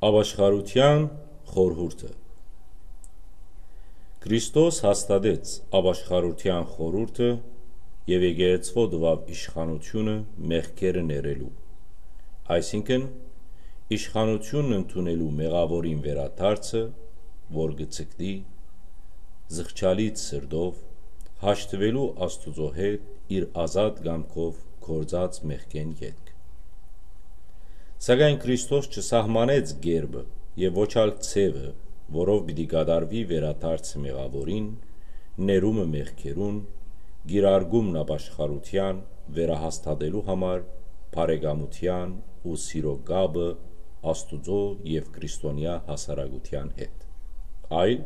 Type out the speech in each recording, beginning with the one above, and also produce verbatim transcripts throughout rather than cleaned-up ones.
Ապաշխարութեան խորհուրդը։ Քրիստոս հաստատեց ապաշխարութեան խորհուրդը եւ եկեղեցւոյ տուաւ իշխանութիւնը մեղքերը ներելու, այսինքն՝ իշխանութիւնն ընդունելու մեղաւորին վերադարձը, որ կը ձգտի զղջալից սրտով հաշտուելու Աստուծոյ հետ իր ազատ կամքով գործած մեղքէն ետք։ Սակայն Քրիստոս չսահմանեց կերպը եւ ոչ ալ ձեւը, որով պիտի կատարուի վերադարձը մեղաւորին, ներումը մեղքերուն, կիրարկումն ապաշխարութեան, վերահաստատելու համար բարեկամութեան ու սիրո կապը Աստուծոյ եւ քրիստոնեայ հասարակութեան հետ, այլ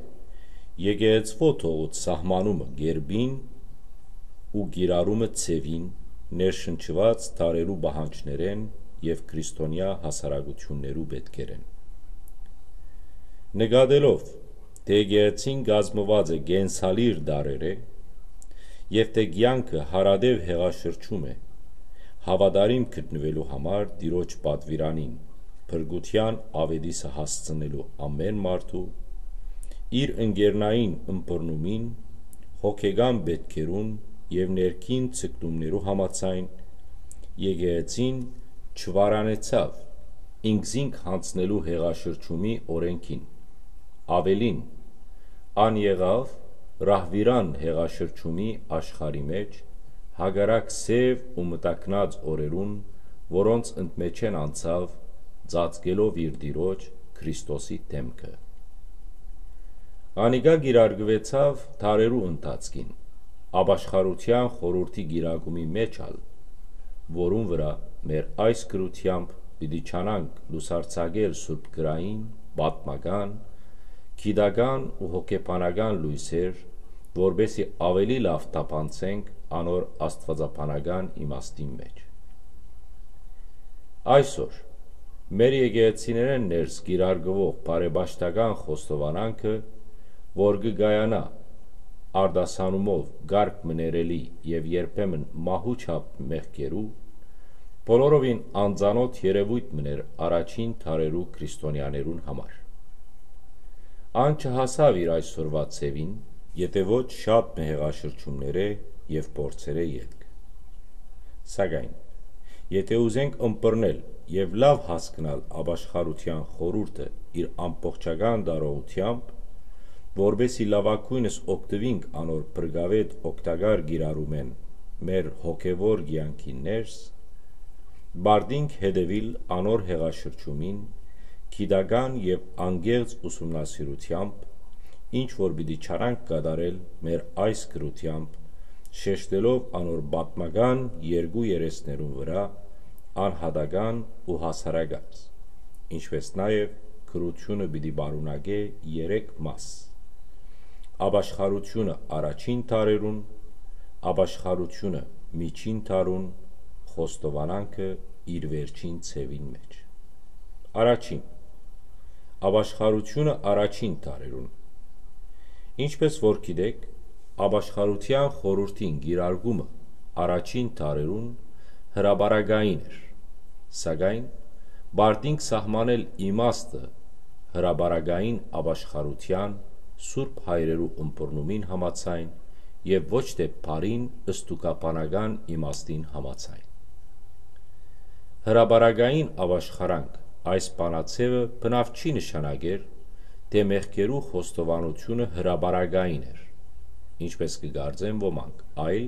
եկեղեցւոյ թողուց սահմանումը կերպին ու կիրառումը ձեւին, ներշնչուած դարերու պահանջներէն եւ քրիստոնեայ հասարակութիւններու պէտքերէն։ Նկատելով, թէ եկեղեցին կազմուած է կենսալիր տարրերէ եւ թէ կեանքը յարատեւ հեղաշրջում է, հաւատարիմ գտնուելու համար Տիրոջ պատուիրանին, փրկութեան աւետիսը հասցնելու ամէն մարդու, իր ընկերնային ըմբռնումին, հոգեկան պէտքերուն եւ ներքին ձգտումներու համաձայն, եկեղեցին չվարանեցաւ ինքզինք յանձնելու հեղաշրջումի օրէնքին։ Աւելին, ան եղաւ ռահվիրան հեղաշրջումի աշխարհի մէջ, հակառակ սեւ ու մտակնած օրերուն, որոնց ընդմէջէն անցաւ, ծածկելով իր Տիրոջ Քրիստոսի դէմքը։ Անիկա կիրարկուեցաւ դարերու ընթացքին, ապաշխարութեան խորհուրդի կիրարկումի մէջ ալ, որուն վրայ մեր այս գրութեամբ պիտի ջանանք լուսարձակել սուրբ գրային, պատմական, գիտական ու հոգեբանական լոյսեր, որպէսզի աւելի լաւ թափանցենք անոր աստուածաբանական իմաստին մէջ։ Այսօր, մեր եկեղեցիներէն ներս կիրարկուող բարեպաշտական խոստովանանքը, որ կը կայանայ արտասանումով կարգ մը ներելի եւ երբեմն մահու չափ մեղքերու, բոլորովին անծանօթ երեւոյթ մըն էր առաջին դարերու քրիստոնեաներուն համար։ Ան չհասաւ իր այսօրուայ ձեւին, եթէ ոչ շատ մը հեղաշրջումներէ եւ փորձերէ ետք։ Սակայն, եթէ ուզենք ըմբռնել եւ լաւ հասկնալ ապաշխարութեան խորհուրդը իր ամբողջական տարողութեամբ, որպէսզի լաւագոյնս օգտուինք անոր փրկաւէտ օգտակար կիրառումէն մեր հոգեւոր կեանքին ներս, պարտինք հետեւիլ անոր հեղաշրջումին, գիտական եւ անկեղծ ուսումնասիրութեամբ, ինչ որ պիտի չարանք կատարել մեր այս գրութեամբ, շեշտելով անոր պատմական երկու երեսներուն վրայ անհատական ու հասարակած, ինչպէս նաեւ գրութիւնը պիտի պարունակէ երեք մաս. ապաշխարութիւնը առաջին դարերուն, ապաշխարութիւնը միջին դարուն, խոստովանանքը իր վերջին ձեւին մէջ։ Առաջին, ապաշխարութիւնը առաջին դարերուն։ Ինչպէս որ գիտէք, ապաշխարութեան խորհուրդին կիրարկումը առաջին դարերուն հրապարակային էր, սակայն պարտինք սահմանել իմաստը հրապարակային ապաշխարութեան սուրբ հայրերու ըմբռնումին համաձայն եւ ոչ թէ բառին ստուգաբանական իմաստին համաձայն։ Հրապարակային ապաշխարանք այս բանաձեւը բնաւ չի նշանակեր, թէ մեղքերու խոստովանութիւնը հրապարակային էր, ինչպէս կը կարծեն ոմանք, այլ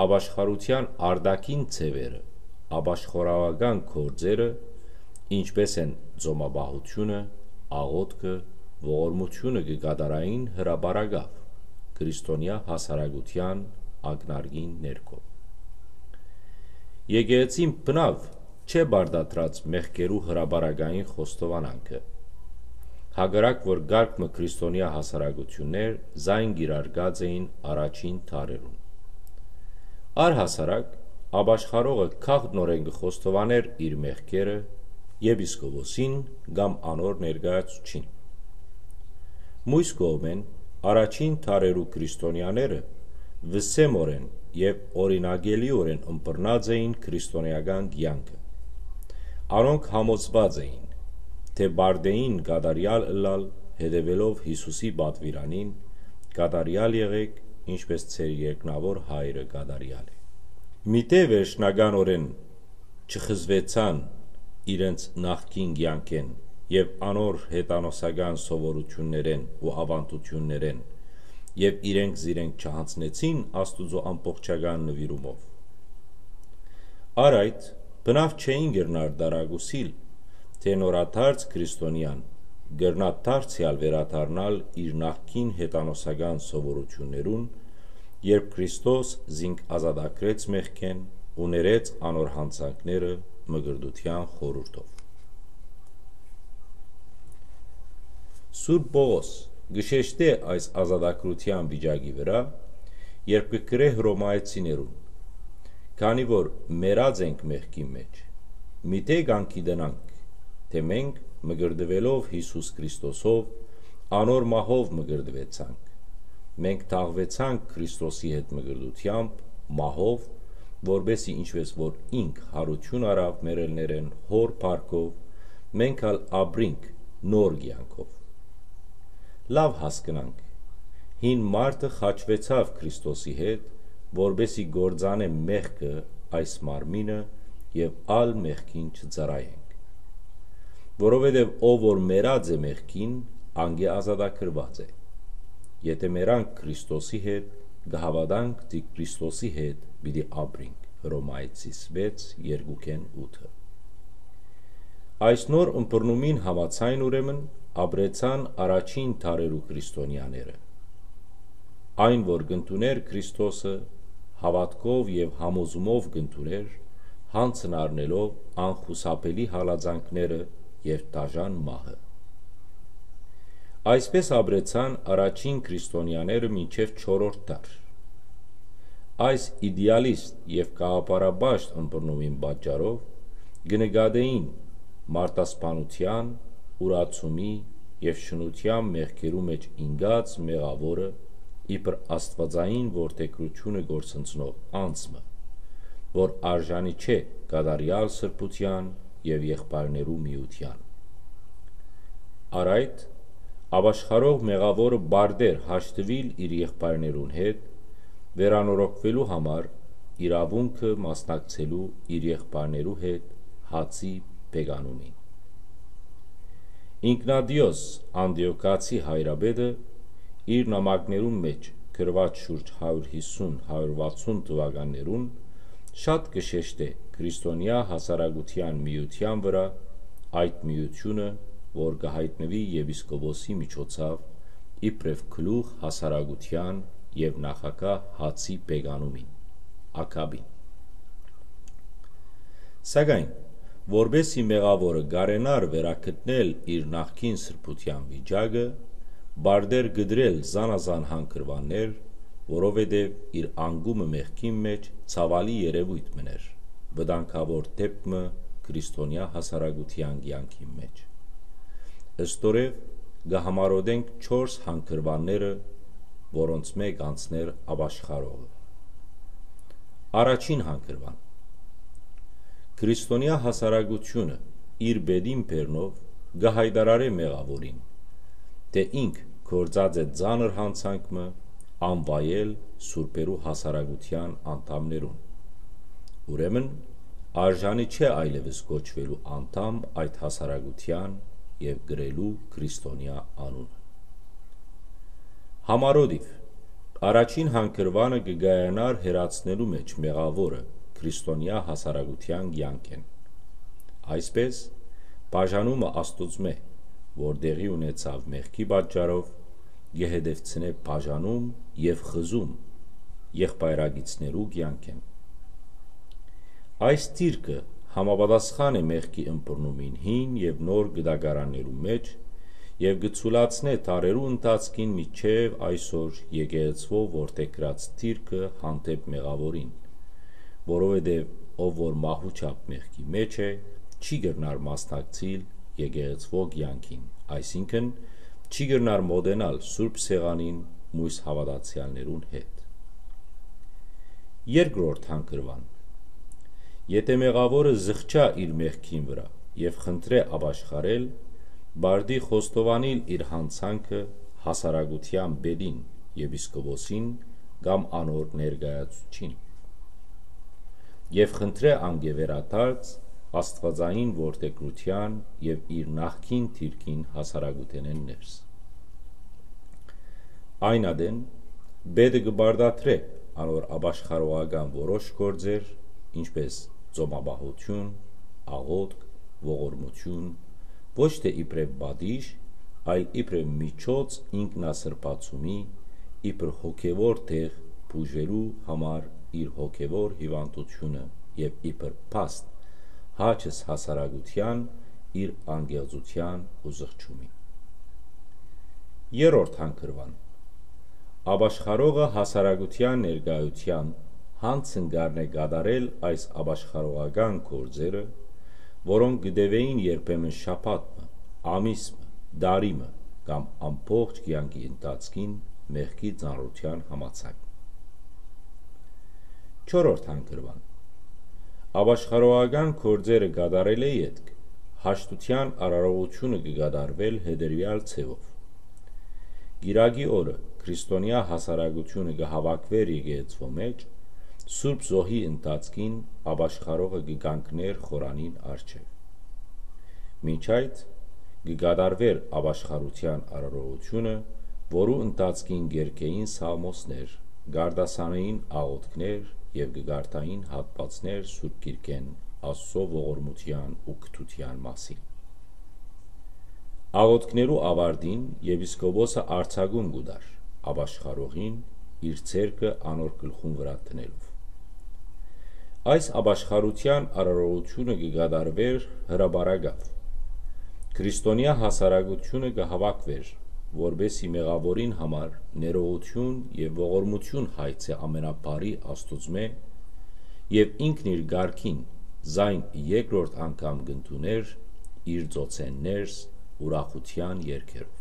ապաշխարութեան արտաքին ձեւերը, ապաշխարաւական գործերը, ինչպէս են ծոմապահութիւնը, աղօթքը, ողորմութիւնը կը կատարային հրապարակաւ, քրիստոնեայ հասարակութեան ակնարկին ներքո։ Եկեղեցին բնաւ չէ պարտադրած մեղքերու հրապարակային խոստովանանքը, հակառակ որ կարգ մը քրիստոնեայ հասարակութիւններ զայն կիրարկած էին առաջին դարերուն։ Առհասարակ, ապաշխարողը գաղտնօրէն կը խոստովանէր իր մեղքերը եպիսկոպոսին կամ անոր ներկայացուցչին։ Մյուս կողմէն, առաջին դարերու քրիստոնեաները վսեմօրէն եւ օրինակելիօրէն ըմբռնած էին քրիստոնեական կեանքը։ Անոնք համոզուած էին, թէ պարտէին կատարեալ ըլլալ, հետեւելով Յիսուսի պատուիրանին, կատարեալ եղէք, ինչպէս ձեր երկնաւոր Հայրը կատարեալ է։ Միտէ վերջնականօրէն չխզուեցան իրենց նախկին կեանքէն եւ անոր յետանոսական սովորութիւններէն ու աւանդութիւններէն եւ իրենք զիրենք չյանձնեցին Աստուծոյ ամբողջական նուիրումով։ Առ այդ, բնաւ չէին կրնար տարակուսիլ, թէ նորադարձ քրիստոնեան կրնայ դարձեալ վերադառնալ իր նախկին յետանոսական սովորութիւններուն, երբ Քրիստոս զինք ազատագրեց մեղքէն ու ներեց անոր յանցանքները մկրտութեան խորհուրդով։ Սուրբ Պողոս կը շեշտէ այս ազատագրութեան վիճակի վրայ, երբ կը գրէ Հռոմայեցիներուն. «Քանի որ մեռած ենք մեղքին մէջ, միթէ կանգիտենանք, թէ մենք մկրտուելով Յիսուս Քրիստոսով, անոր մահով մկրտուեցանք։ Մենք թաղուեցանք Քրիստոսի հետ մկրտութեամբ, մահով, որպէսզի ինչպէս որ ինք յարութիւն առաւ մեռելներէն Հօր փառքով, մենք ալ ապրինք նոր կեանքով»։ Լաւ հասկնանք, հին մարդը խաչուեցաւ Քրիստոսի հետ, որպէսզի կործանէ մեղքը այս մարմինը եւ ալ մեղքին չծառայենք։ Որովհետեւ ով որ մեռած է մեղքին, անկէ ազատագրուած է։ Եթէ մեռանք Քրիստոսի հետ, կը հաւատանք, թէ Քրիստոսի հետ պիտի ապրինք, Հռոմայեցիս վեց, երկուքէն ութը։ Այս նոր ըմբռնումին համաձայն ուրեմն ապրեցան առաջին դարերու քրիստոնեաները։ Այն որ կ'ընդունէր Քրիստոսը, հաւատքով եւ համոզումով կ'ընդունէր, յանցն առնելով անխուսափելի հալածանքները եւ դաժան մահը։ Այսպէս ապրեցան առաջին քրիստոնեաները մինչեւ չորրորդ դար։ Այս իդեալիստ եւ գաղափարապաշտ ըմբռնումին պատճառով կը նկատէին մարդասպանութեան, ուրացումի եւ շնութեան մեղքերու մէջ ինկած մեղաւորը իբր աստուածային որդեգրութիւնը կորսնցնող անձ մը, որ արժանի չէ կատարեալ սրբութեան եւ եղբայրներու միութեան։ Առ այդ, ապաշխարող մեղաւորը պարտէր հաշտուիլ իր եղբայրներուն հետ, վերանորոգուելու համար իրաւունքը մասնակցելու իր եղբայրներու հետ հացի բեկանումին։ Ինկնատիոս Անտիոքացի հայրապետը իր նամակներուն մէջ գրուած շուրջ հարիւր յիսուն, հարիւր վաթսուն թուականներուն շատ կը շեշտէ քրիստոնեայ հասարակութեան միութեան վրայ, այդ միութիւնը, որ կը յայտնուի եպիսկոպոսի միջոցաւ իբրեւ գլուխ հասարակութեան եւ նախագահ հացի բեկանումին, ակապին։ Սակայն, որպէսզի մեղաւորը կարենար վերագտնել իր նախկին սրբութեան վիճակը, պարտէր կտրել զանազան հանգրուաններ, որովհետեւ իր անկումը մեղքին մէջ ցաւալի երեւոյթ մըն էր, վտանգաւոր դէպք մը քրիստոնեայ հասարակութեան կեանքին մէջ։ Ստորեւ կը համարոտենք չորս հանգրուանները, որոնց մէկ անցներ ապաշխարողը։ Առաջին հանգրուան։ Քրիստոնեայ հասարակութիւնը իր բետին բեռնով կը յայտարարէ մեղաւորին, թէ ինք գործած է ծանր յանցանք մը անվայել սուրբերու հասարակութեան անդամներուն։ Ուրեմն, արժանի չէ այլեւս կոչուելու անդամ այդ հասարակութեան եւ կրելու քրիստոնեայ անունը։ Համարոդիվ, առաջին հանգրուանը կը կայանար հեռացնելու մէջ մեղաւորը քրիստոնեայ հասարակութեան կեանքէն։ Այսպէս, բաժանումը Աստուծմէ, որ տեղի ունեցաւ մեղքի պատճառով, կը հետևցնէ բաժանում եւ խզում եղբայրակիցներու կեանքէն։ Այս դիրքը համապատասխան է մեղքի ըմբռնումին հին եւ նոր գտակարաններու մէջ եւ կը ցուլացնէ դարերու ընթացքին մինչեւ այսօր եկեղեցւոյ որդեգրած դիրքը հանդէպ մեղաւորին, որովհետեւ ով որ մահու չափ մեղքի մէջ է, չի կրնար մասնակցիլ եկեղեցւոյ կեանքին, այսինքն՝ չի կրնար մօտենալ Սուրբ Սեղանին մոյս հաւատացեալներուն հետ։ Երկրորդ հանգրուան։ Եթէ մեղաւորը զղջայ իր մեղքին վրայ եւ խնդրէ ապաշխարել, Պարտի խոստովանիլ իր յանցանքը հասարակութեան պետին, եպիսկոպոսին կամ անոր ներկայացուցչին։ Եւ խնդրէ անկէ վերադարձ աստուածային որդեգրութեան եւ իր նախկին դիրքին հասարակութենէն ներս։ Այն ատեն, պետը կը պարտադրէ անոր ապաշխարողական որոշ գործեր, ինչպէս ծոմապահութիւն, աղօթք, ողորմութիւն, ոչ թէ իբրեւ պատիժ, այլ իբրեւ միջոց ինքնասրբացումի, իբր հոգեւոր տեղ բուժելու համար իր հոգեւոր հիւանդութիւնը եւ իբր փաստ, հաճս հասարակութեան իր անկեղծութեան ու զղջումի։ Երրորդ հանգրուան։ Ապաշխարողը հասարակութեան ներկայութեան յանցն կ'առնէ կատարել այս ապաշխարողական գործերը, որոնք կը տեւէին երբեմն շաբաթ մը, ամիս մը, տարի մը կամ ամբողջ կեանքի ընթացքին մեղքի ծանրութեան համաձայն։ Չորրորդ հանգրուան։ Ապաշխարողական գործերը կատարելէ ետք հաշտութեան արարողութիւնը կը կատարուէր հետեւեալ ձեւով։ Կիրակի օրը քրիստոնեայ հասարակութիւնը կը հաւաքուէր եկեղեցւոյ մէջ, Սուրբ Զոհի ընթացքին ապաշխարողը կը կանգնէր խորանին առջեւ։ Մինչ այդ, կը կատարուէր ապաշխարութեան արարողութիւնը, որու ընթացքին կերգէին սաղմոսներ, կ'արտասանէին աղօթքներ եւ կը կարդային հատուածներ Սուրբ Գիրքէն Աստուծոյ ողորմութեան ու կրթութեան մասին։ Աղօթքներու աւարտին եպիսկոպոսը արձակում կու տար ապաշխարողին՝ իր ձեռքը անոր գլխուն վրայ դնելով։ Այս ապաշխարութեան արարողութիւնը կը կատարուէր հրապարակաւ։ Քրիստոնեայ հասարակութիւնը կը հաւաքուէր, որպէս զի մեղաւորին համար ներողութիւն եւ ողորմութիւն հայցէ ամենաբարի Աստուծմէ, եւ ինքն իր կարգին զայն երկրորդ անգամ կ'ընդունէր իր ծոցէն ներս ուրախութեան երգերով։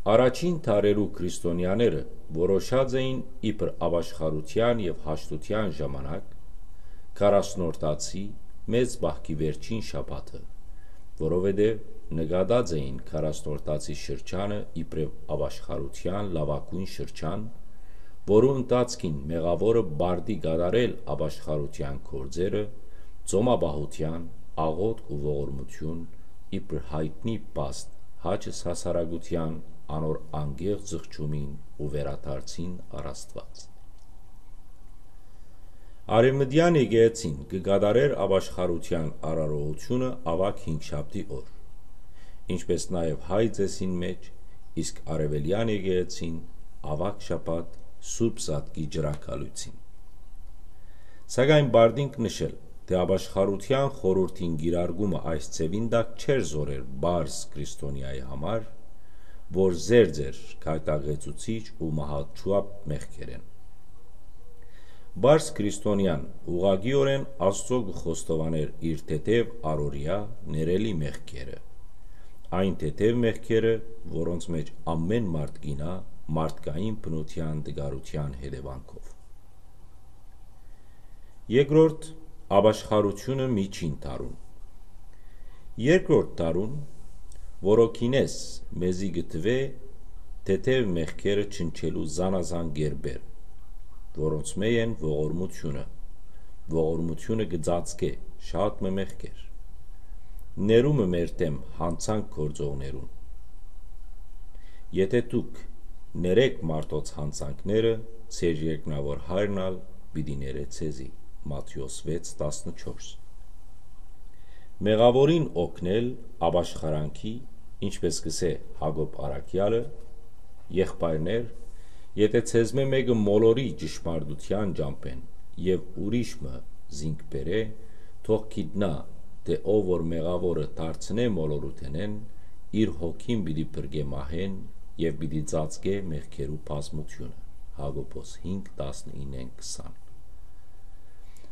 Առաջին դարերու քրիստոնեաները որոշած էին իբր ապաշխարութեան եւ հաշտութեան ժամանակ քառասնորդացի մեծ պահքի վերջին շաբաթը, որովհետեւ նկատած էին քառասնորդացի շրջանը իբրեւ ապաշխարութեան լաւագոյն շրջան, որու ընթացքին մեղաւորը պարտի կատարել ապաշխարութեան գործերը, ծոմապահութեան, աղօթք ու ողորմութիւն, իբր յայտնի փաստ, հաճս հասարակութեան անոր անկեղծ զղջումին ու վերադարձին առ Աստուած։ Արեւմտեան եկեղեցին կը կատարէր ապաշխարութեան արարողութիւնը աւագ հինգշաբթի օր, ինչպէս նաեւ հայ ծէսին մէջ, իսկ արեւելեան եկեղեցին՝ աւագ շաբաթ Սուրբ Զատկի ջրագալոյցին։ Սակայն պարտինք նշել, թէ ապաշխարութեան խորհուրդին կիրարկումը այս ձեւին տակ չէր զօրեր պարզ քրիստոնեայի համար, որ զերծ էր գայթակղեցուցիչ ու մահաչուապ մեղքերէն։ Պարզ քրիստոնեան ուղղակիօրէն Աստուծոյ կը խոստովանէր իր թեթեւ առօրեայ ներելի մեղքերը, այն թեթեւ մեղքերը, որոնց մէջ ամէն մարդ կ'իյնայ մարդկային բնութեան տկարութեան հետեւանքով։ Երկրորդ, ապաշխարութիւնը միջին դարուն։ Երկրորդ դարուն, որոքինէս մեզի կը թուէ թեթեւ մեղքերը չնչելու զանազան կերպեր, որոնցմէ են ողորմութիւնը։ Ողորմութիւնը կը ծածկէ շատ մը մեղքեր։ Ներումը մեր դէմ յանցանք գործողներուն։ Եթէ դուք ներէք մարդոց յանցանքները, ձեր երկնաւոր Հայրն ալ պիտի ներէ ձեզի։ Մատթէոս վեց տասնչորս։ Մեղաւորին օգնել ապաշխարանքի, ինչպէս կ'ըսէ Յակոբ առաքեալը. «Եղբայրներ, եթէ ձեզմէ մէկը մոլորի ճշմարտութեան ճամբէն եւ ուրիշ մը զինք բերէ, թող գիտնայ, թէ ով որ մեղաւորը դարձնէ մոլորութենէն, իր հոգին պիտի փրկէ մահէն եւ պիտի ծածկէ մեղքերու բազմութիւնը»։ Յակոբոս հինգ, տասնիննէն քսան։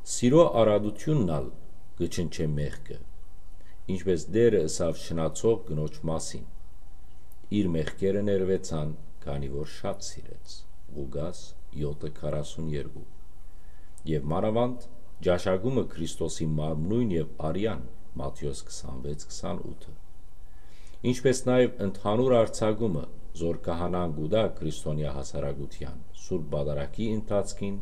Սիրոյ առատութիւնն ալ կը չնչէ մեղքը, ինչպէս Տէրը ըսաւ շնացող կնոջ մասին. «Իր մեղքերը ներուեցան, քանի որ շատ սիրեց»։ Ղուկաս յոթը, քառասուն երկու։ Եւ մանաւանդ ճաշակումը Քրիստոսի մարմնոյն եւ արեան, Մատթէոս քսանվեց, քսանութը։ ինչպէս նաեւ ընդհանուր արձակումը, զոր քահանան կու տայ քրիստոնեայ հասարակութեան Սուրբ Պատարագի ընթացքին,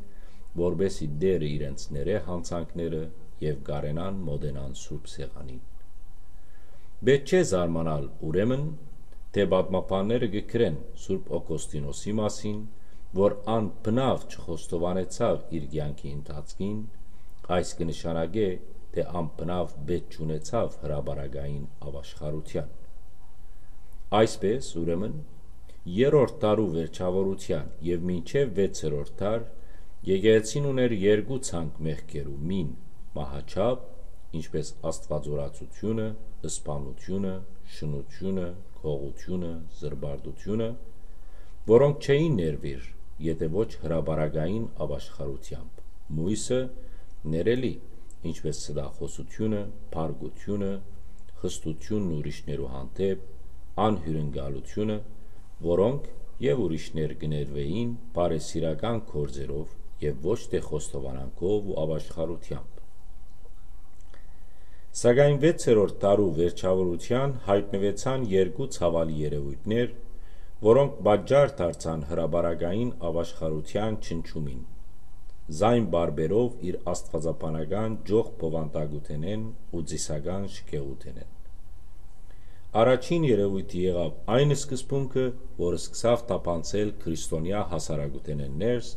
որպէս զի Տէրը իրենց ներէ յանցանքները եւ կարենան մօտենան Սուրբ Սեղանին։ Պէտք չէ զարմանալ, ուրեմն, թէ պատմաբանները կը գրեն Սուրբ Օգոստինոսի մասին, որ ան բնաւ չխոստովանեցաւ իր կեանքի ընթացքին, այս կը նշանակէ, թէ ան բնաւ պէտք չունեցաւ հրապարակային ապաշխարութեան։ Այսպէս, ուրեմն, երրորդ դարու վերջաւորութեան եւ մինչեւ վեցերորդ դար եկեղեցին ունէր երկու ցանկ մեղքերու մին՝ մահաչափ, ինչպէս աստուածորացութիւնը, սպանութիւնը, շնութիւնը, գողութիւնը, զրպարտութիւնը, որոնք չէին ներուիր, եթէ ոչ հրապարակային ապաշխարութեամբ, մոյսը՝ ներելի, ինչպէս ստախոսութիւնը, փառքութիւնը, խստութիւնն ուրիշներու հանդէպ, անհիւրընկալութիւնը, որոնք եւ ուրիշներ կը ներուէին բարեսիրական գործերով եւ ոչ թէ խոստովանանքով ու ապաշխարութեամբ։ Սակայն վեցերորդ դարու վերջաւորութեան յայտնուեցան երկու ցաւալի երեւոյթներ, որոնք պատճառ դարձան հրապարակային ապաշխարութեան չնչումին, զայն պարբերով իր աստուածաբանական ճոխ բովանդակութենէն ու ծիսական շքեղութենէն։ Առաջին երեւոյթը եղաւ այն սկզբունքը, որ սկսաւ թափանցել քրիստոնեայ հասարակութենէն ներս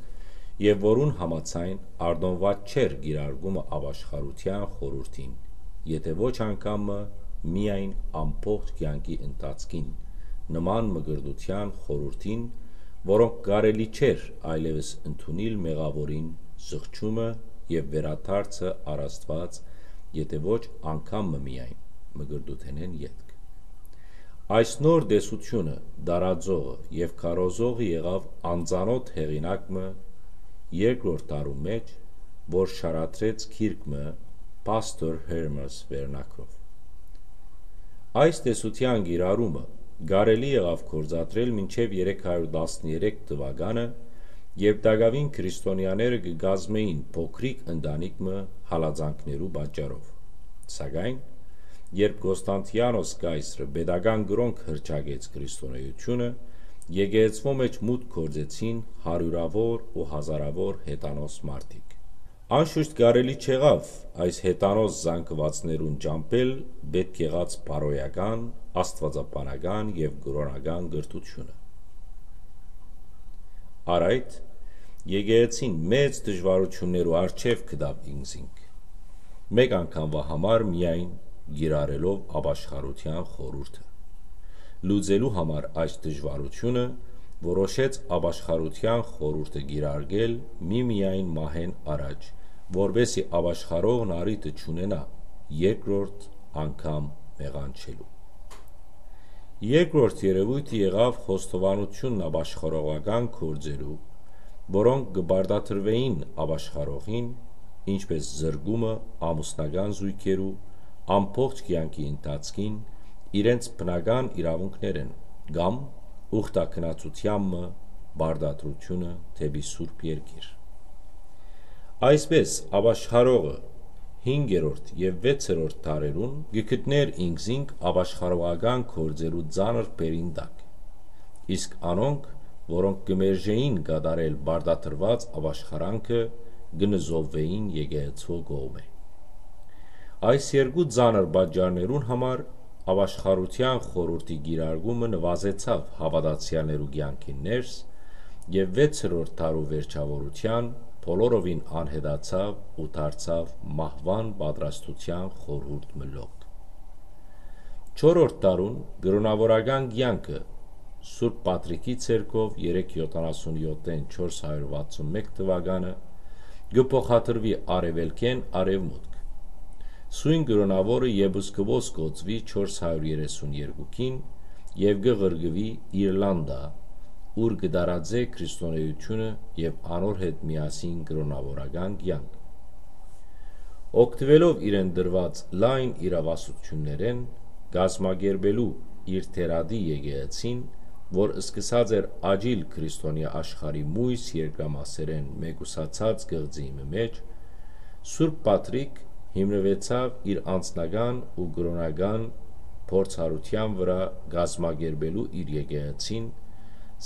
եւ որուն համաձայն արտօնուած չէր կիրարկումը ապաշխարութեան խորհուրդին, եթէ ոչ անգամ մը, միայն ամբողջ կեանքի ընթացքին, նման մկրտութեան խորհուրդին, որոնք կարելի չէր այլեւս ընդունիլ մեղաւորին զղջումը եւ վերադարձը առ Աստուած, եթէ ոչ անգամ մը միայն, մկրտութենէն ետք։ Այս նոր տեսութիւնը տարածողը եւ քարոզողը եղաւ անծանօթ հեղինակ մը երկրորդ դարու մէջ, որ շարադրեց գիրք մը Pastor Hermes վերնագրով։ Այս տեսութեան կիրառումը կարելի եղաւ գործադրել մինչեւ երեք հարիւր տասներեք թուականը, երբ տակաւին քրիստոնեաները կը կազմէին փոքրիկ ընտանիք մը հալածանքներու պատճառով։ Սակայն, երբ Կոստանտիանոս կայսրը պետական կրօնք հռչակեց քրիստոնեութիւնը, եկեղեցւոյ մէջ մուտք գործեցին հարիւրաւոր ու հազարաւոր հեթանոս մարդիկ։ Անշուշտ կարելի չեղաւ այս հեթանոս զանգուածներուն ճամբել պէտք եղած բարոյական, աստուածաբանական եւ կրօնական կրթութիւնը։ Առ այդ, եկեղեցին մեծ դժուարութիւններու առջեւ գտաւ ինքզինք, մէկ անգամվա համար միայն կիրառելով ապաշխարութեան խորհուրդը։ Լուծելու համար այս դժուարութիւնը, որոշեց ապաշխարութեան խորհուրդը կիրարկել միմիայն մահէն առաջ, որպէս զի ապաշխարողն առիթը չունենայ երկրորդ անգամ մեղանչելու։ Երկրորդ երեւոյթը եղաւ խոստովանութիւնն ապաշխարողական գործերու, որոնք կը պարտադրուէին ապաշխարողին, ինչպէս զրկումը ամուսնական զոյգերու, ամբողջ կեանքի ընթացքին իրենց բնական իրաւունքներէն կամ ուխտագնացութեան մը պարտադրութիւնը դէպի Սուրբ Երկիր։ Այսպէս, ապաշխարողը հինգերորդ եւ վեցերորդ դարերուն կը գտնէր ինքզինք ապաշխարողական գործերու ծանր բերին տակ, իսկ անոնք, որոնք կը մերժէին կատարել պարտադրուած ապաշխարանքը, կը նզովուէին եկեղեցւոյ կողմէ։ Այս երկու ծանր պատճառներուն համար Ապաշխարութեան խորհուրդի կիրարկումը նուազեցաւ հաւատացեալներու կեանքին ներս եւ վեցերորդ դարու վերջաւորութեան բոլորովին անհետացաւ ու դարձաւ մահուան պատրաստութեան խորհուրդ մը լոկ։ Չորրորդ դարուն կրօնաւորական կեանքը Սուրբ Պատրիկի ցերկով երեք յոթանասունյոթ չորս հարիւր վաթսունմեկ թուականը կը փոխադրուի արեւելքէն արեւմուտք։ Սոյն կրօնաւորը եպիսկոպոս կոծուի չորս հարիւր երեսուն երկուքին եւ կը ղրկուի Իրլանտա, ուր կը տարածէ քրիստոնէութիւնը եւ անոր հետ միասին կրօնաւորական կեանք։ Օգտուելով իրեն տրուած լայն իրաւասութիւններէն, կազմակերպելու իր թերադի եկեղեցին, որ սկսած էր աճիլ քրիստոնեայ աշխարհի մոյս երկրամասերէն մեկուսացած կղզիի մը մէջ, Սուրբ Պատրիկ հիմնուեցաւ իր անձնական ու կրօնական փորձառութեան վրայ կազմակերպելու իր եկեղեցին,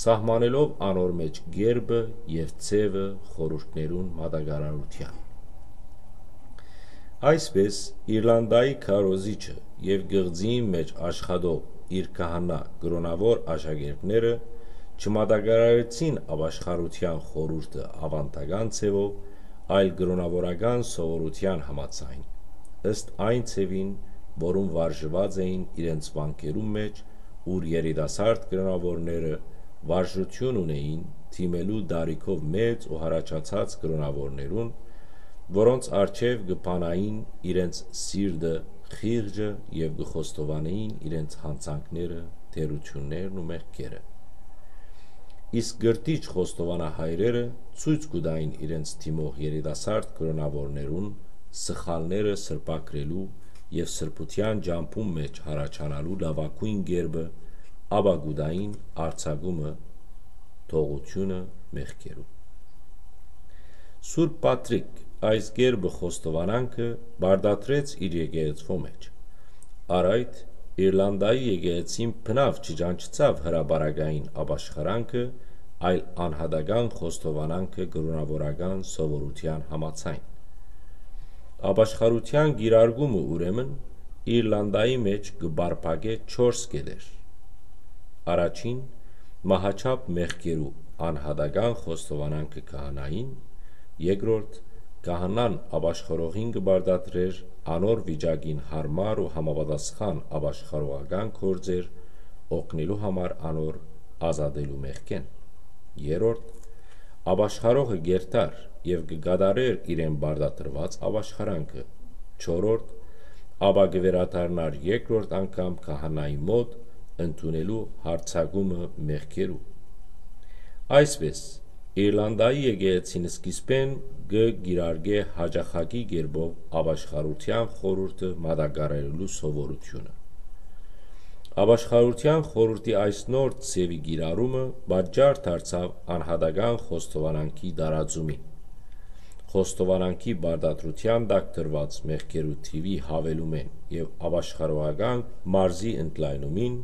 սահմանելով անոր մէջ կերպը եւ ձեւը խորհուրդներուն մատակարարութեան։ Այսպէս, Իրլանդայի քարոզիչը եւ կղզիին մէջ աշխատող իր քահանայ կրօնաւոր աշակերտները չմատակարարեցին ապաշխարութեան խորհուրդը աւանդական ձեւով, այլ կրօնաւորական սովորութեան համաձայն, ըստ այն ձեւին, որուն վարժուած էին իրենց վանքերուն մէջ, ուր երիտասարդ կրօնաւորները վարժութիւն ունէին դիմելու տարիքով մեծ ու յառաջացած կրօնաւորներուն, որոնց առջեւ կը բանային իրենց սիրտը խիղճը եւ կը խոստովանէին իրենց յանցանքները, թերութիւններն ու մեղքերը։ Իսկ կրթիչ խոստովանահայրերը ցոյց կու տային իրենց դիմող երիտասարդ կրօնաւորներուն սխալները սրբագրելու եւ սրբութեան ճամբուն մէջ յառաջանալու լաւագոյն կերպը, ապա կու տային արձակումը, թողութիւնը մեղքերու։ Սուրբ Պատրիկ այս կերպը խոստովանանքը պարտադրեց իր եկեղեցւոյ մէջ։ Առ այդ, Իրլանդայի եկեղեցին բնաւ չճանչցաւ հրապարակային ապաշխարանքը, այլ անհատական խոստովանանքը կրօնաւորական սովորութեան համաձայն։ Ապաշխարութեան կիրարկումը, ուրեմն, Իրլանդայի մէջ կը պարփակէ չորս կետեր։ Առաջին, մահաչափ մեղքերու անհատական խոստովանանքը քահանային, երկրորդ, քահանան ապաշխարողին կը պարտադրէր անոր վիճակին յարմար ու համապատասխան ապաշխարողական գործեր օգնելու համար անոր ազատելու մեղքէն։ Երրորդ, ապաշխարողը կերթար եւ կը կատարէր իրեն պարտադրուած ապաշխարանքը։ Չորրորդ, ապա կը վերադառնար երկրորդ անգամ քահանայի մօտ, ընդունելու յարձակումը մեղքերու։ Այսպէս, Իրլանդայի եկեղեցին սկիզբէն կը կիրարկէ յաճախակի կերպով ապաշխարութեան խորհուրդը մատակարարելու սովորութիւնը։ Ապաշխարութեան խորհուրդի այս նոր ձեւի կիրառումը պատճառ դարձաւ անհատական խոստովանանքի տարածումին, խոստովանանքի պարտադրութեան տակ դրուած մեղքերու թիւի յաւելումէն եւ ապաշխարողական մարզի ընդլայնումին,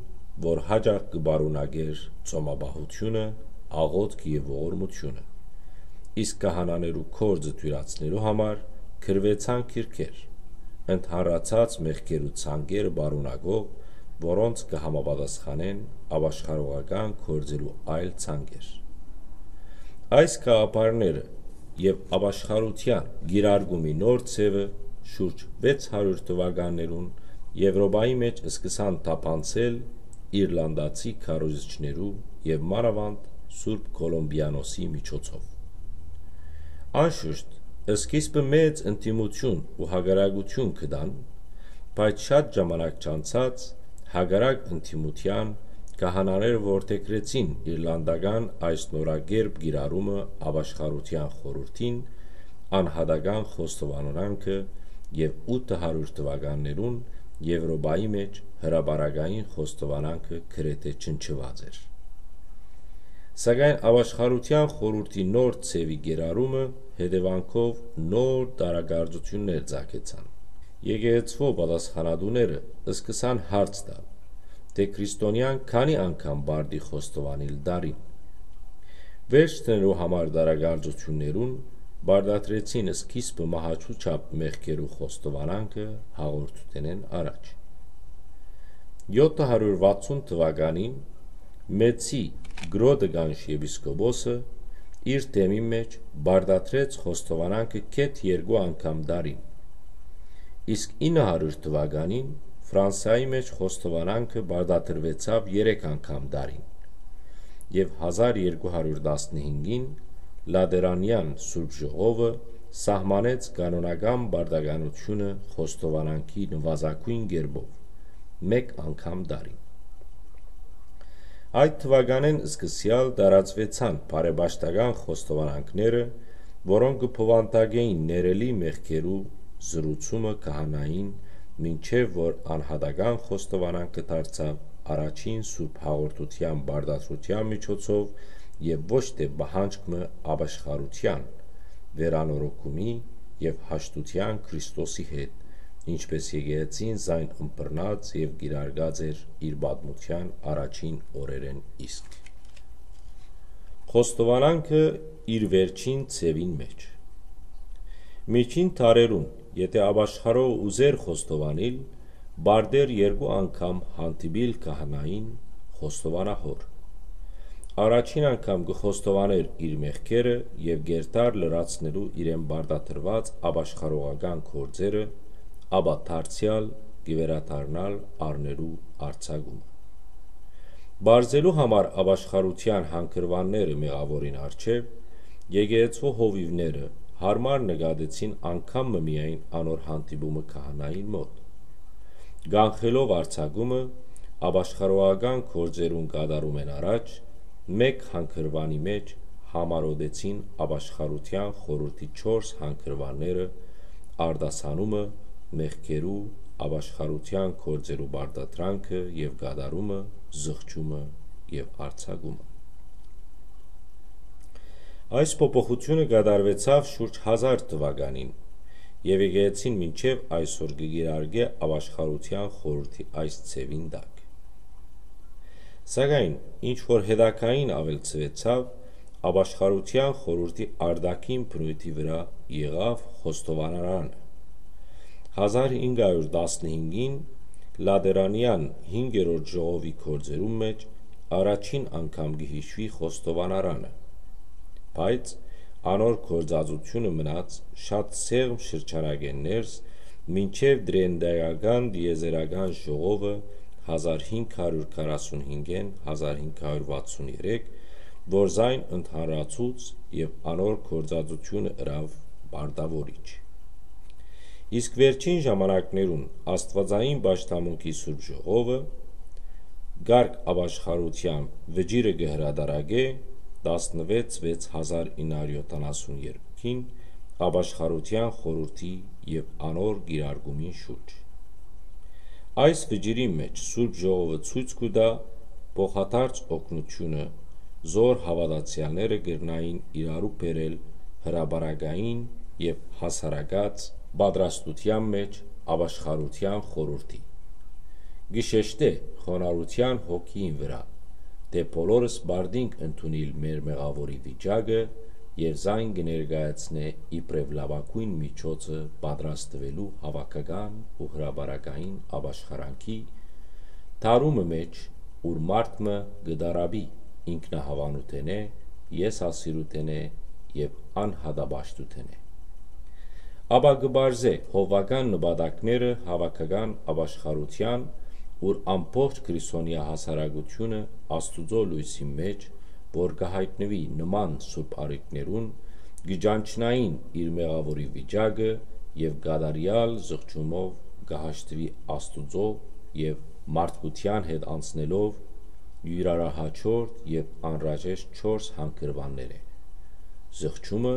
որ յաճախ կը պարունակէր ծոմապահութիւնը, աղօթքը եւ ողորմութիւնը, իսկ քահանաներու գործը թոյլացնելու համար գրուեցան գրքեր, ընդհանրացած մեղքերու ցանկերը պարունակող, որոնց կը համապատասխանեն ապաշխարողական գործերու այլ ցանկեր։ Այս գաղափարները եւ ապաշխարութեան կիրարկումի նոր ձեւը շուրջ վեց հարիւր թուականներուն Եւրոպայի մէջ սկսան թափանցել իրլանդացի քարոզիչներու եւ մանաւանդ Սուրբ Կոլումբիանոսի միջոցով։ Անշուշտ, սկիզբը մեծ ընդդիմութիւն ու հակառակութիւն կը տան, բայց շատ ժամանակ չանցած, հակառակ ընդդիմութեան, քահանաները որդեգրեցին իրլանդական այս նորակերպ կիրառումը ապաշխարութեան խորհուրդին, անհատական խոստովանանքը եւ ութ հարիւր թուականներուն Եւրոպայի մէջ հրապարակային խոստովանանքը գրեթէ ջնջուած էր։ Սակայն ապաշխարութեան խորհուրդի նոր ձեւի կիրառումը հետեւանքով նոր տարակարծութիւններ ծագեցան։ Եկեղեցւոյ պատասխանատուները սկսան հարց տալ, թէ քրիստոնեան քանի՞ անգամ պարտի խոստովանիլ տարին։ Վերջ դնելու համար տարակարծութիւններուն պարտադրեցին սկիզբը մահաչու չափ մեղքերու խոստովանանքը հաղորդութենէն առաջ։ Եօթ հարիւր վաթսուն թուականին Մեծի Գրոտեգանշ եպիսկոպոսը իր թեմին մէջ պարտադրեց խոստովանանքը գեթ երկու անգամ տարին, իսկ ինը հարիւր թուականին Ֆրանսայի մէջ խոստովանանքը պարտադրուեցաւ երեք անգամ տարին, եւ հազար երկու հարիւր տասնհինգին Լատերանեան Սուրբ Ժողովը սահմանեց կանոնական պարտականութիւնը խոստովանանքի նուազագոյն կերպով, մէկ անգամ տարին։ Այդ թուականէն սկսեալ տարածուեցան բարեպաշտական խոստովանանքները, որոնք կը բովանդակէին ներելի մեղքերու զրուցումը քահանային, մինչեւ որ անհատական խոստովանանքը դարձաւ առաջին Սուրբ Հաղորդութեան պարտադրութեան միջոցով եւ ոչ թէ պահանջք մը ապաշխարութեան, վերանորոգումի եւ հաշտութեան Քրիստոսի հետ, ինչպէս եկեղեցին զայն ըմբռնած եւ կիրարկած էր իր պատմութեան առաջին օրերէն իսկ։ Խոստովանանքը իր վերջին ձեւին մէջ։ Միջին դարերուն, եթէ ապաշխարող ուզէր խոստովանիլ, պարտէր երկու անգամ հանդիպիլ քահանային խոստովանահոր։ Առաջին անգամ կը խոստովանէր իր մեղքերը եւ կերթար լրացնելու իրեն պարտադրուած ապաշխարողական գործերը, ապա դարձեալ կը վերադառնար առնելու արձակումը։ Պարզելու համար ապաշխարութեան հանգրուանները մեղաւորին առջեւ, եկեղեցւոյ հովիւները յարմար նկատեցին անգամ մը միայն անոր հանդիպումը քահանային մօտ։ Կանխելով արձակումը, ապաշխարողական գործերուն կատարումէն առաջ, մէկ հանգրուանի մէջ համարոտեցին ապաշխարութեան խորհուրդի չորս հանգրուանները՝ արտասանումը, մեղքերու, ապաշխարութեան գործերու պարտադրանքը եւ կատարումը, զղջումը եւ արձակումը։ Այս փոփոխութիւնը կատարուեցաւ շուրջ հազար թուականին, եւ եկեղեցին մինչեւ այսօր կը կիրարկէ ապաշխարութեան խորհուրդի այս ձեւին տակ։ Սակայն, ինչ որ հետագային աւելցուեցաւ, ապաշխարութեան խորհուրդի արտաքին բնոյթի վրայ եղաւ խոստովանարանը։ Հազար հինգ հարիւր տասնհինգին Լատերանեան հինգերորդ ժողովի գործերուն մէջ առաջին անգամ կը յիշուի խոստովանարանը, բայց անոր գործածութիւնը մնաց շատ սեղմ շրջանակէն ներս, մինչեւ Տրիենտայական տիեզերական ժողովը հազար հինգ հարիւր քառասունհինգէն հազար հինգ հարիւր վաթսուն երեք, որ զայն ընդհանրացուց եւ անոր գործածութիւնը ըրաւ պարտաւորիչ։ Իսկ վերջին ժամանակներուն Աստուածային պաշտամունքի Սուրբ Ժողովը կարգ ապաշխարութեան վճիռը կը հրատարակէ տասնվեց վեց հազար ինը հարիւր յոթանասուն երկուին ապաշխարութեան խորհուրդի եւ անոր կիրարկումին շուրջ։ Այս վճիռին մէջ Սուրբ Ժողովը ցոյց կու տայ փոխադարձ օգնութիւնը, զոր հաւատացեալները կրնային իրարու բերել հրապարակային եւ հասարակաց պատրաստութեան մէջ ապաշխարութեան խորհուրդի։ Կը շեշտէ խոնարհութեան հոգիին վրայ, թէ բոլորս պարտինք ընդունիլ մեր մեղաւորի վիճակը եւ զայն կը ներկայացնէ իբրեւ լաւագոյն միջոցը պատրաստուելու հաւաքական ու հրապարակային ապաշխարանքի դարումը մէջ, ուր մարդ մը կը տառապի ինքնահաւանութենէ, եսասիրութենէ եւ անհատապաշտութենէ։ Ապա կը պարզէ հովուական նպատակները հաւաքական ապաշխարութեան, ուր ամբողջ քրիստոնեայ հասարակութիւնը Աստուծոյ լոյսին մէջ, որ կը յայտնուի նման սուրբ առիթներուն, կը ճանչնային իր մեղաւորի վիճակը եւ կատարեալ զղջումով կը հաշտուի Աստուծոյ եւ մարդկութեան հետ անցնելով իւրայատկօրեան եւ անհրաժեշտ չորս հանգրուաններէ. զղջումը,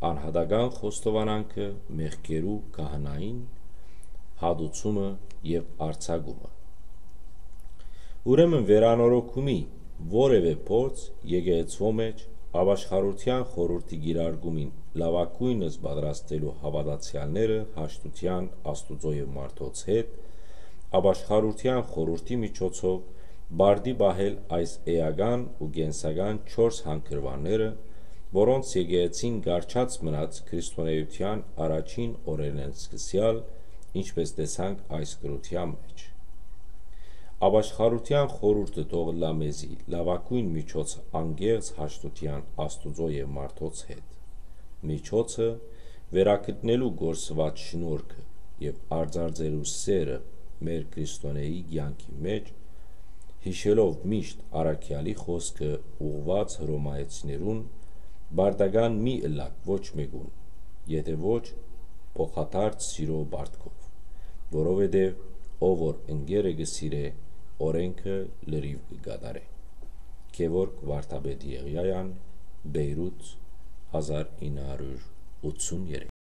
անհատական խոստովանանքը, մեղքերու քահանային հատուցումը եւ արձակումը։ Ուրեմն, վերանորոգումի որեւէ փորձ եկեղեցւոյ մէջ, ապաշխարութեան խորհուրդի կիրարկումին լաւագոյնս պատրաստելու հաւատացեալները հաշտութեան Աստուծոյ եւ մարդոց հետ, ապաշխարութեան խորհուրդի միջոցով պարտի պահել այս էական ու կենսական չորս հանգրուանները, որոնց եկեղեցին կառչած մնաց քրիստոնէութեան առաջին օրերէն սկսեալ, ինչպէս տեսանք այս գրութեան մէջ։ Ապաշխարութեան խորհուրդը թող ըլլայ մեզի լաւագոյն միջոցը անկեղծ հաշտութեան Աստուծոյ եւ մարդոց հետ։ Միջոցը, վերագտնելու կորսուած շնորհքը եւ արծարծելու սերը մեր քրիստոնէի կեանքի մէջ, յիշելով միշտ առաքեալի խօսքը ուղղուած Հռոմայեցիներուն. «Պարտական մի ըլլաք ոչ մէկուն, եթէ ոչ փոխադարձ սիրո պարտքով, որովհետեւ ով որ ընկերը կը սիրէ, օրէնքը լրիւ կը կատարէ»։ Գեորգ Վարդապետ Եղիայան, Պէյրութ, հազար ինը հարիւր ութսուն երեք։